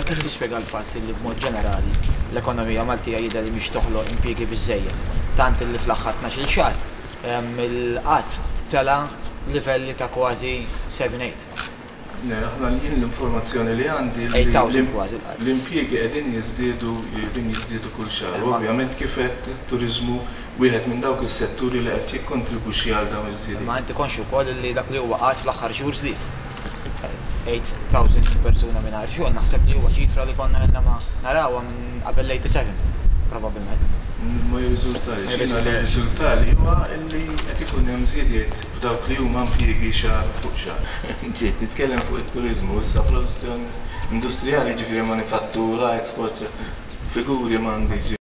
Kif tispjega l-fatt li b'mod ġenerali l-ekonomija Maltija jidher li mhix toħloq impjiegi biżżejjed, tant li fl-aħħar 12-il xahar il-qgħad tela' livelli ta' kważi 7-8. Le, aħna jien l-informazzjoni li għandi li 8,000 kważi l-qgħad. l-impjiegi qegħdin jiżdiedu qegħdin jiżdiedu kull xahar. U ovvjament kif għedt it-turiżmu wieħed minn dawk is-setturi li qed jikkontribwixxi għal dawn iż-żiediet. Imma inti konxju wkoll li dak li huwa qgħad fl-aħħar xhur żdied. 8,000 persuna mingħajr xogħol naħseb li huwa ċifra li konna ilna ma narawha minn qabel l-87 probabbilment. Ma jirriżultalix. Jiena li jirriżultali huwa li qed ikun hemm żiediet f'dawk li huma impjiegi xahar fuq xahar. Ġejt nitkellem fuq it-turiżmu, issa produzzjoni industrijali jiġifieri manifattura, export, figuri m'għandix.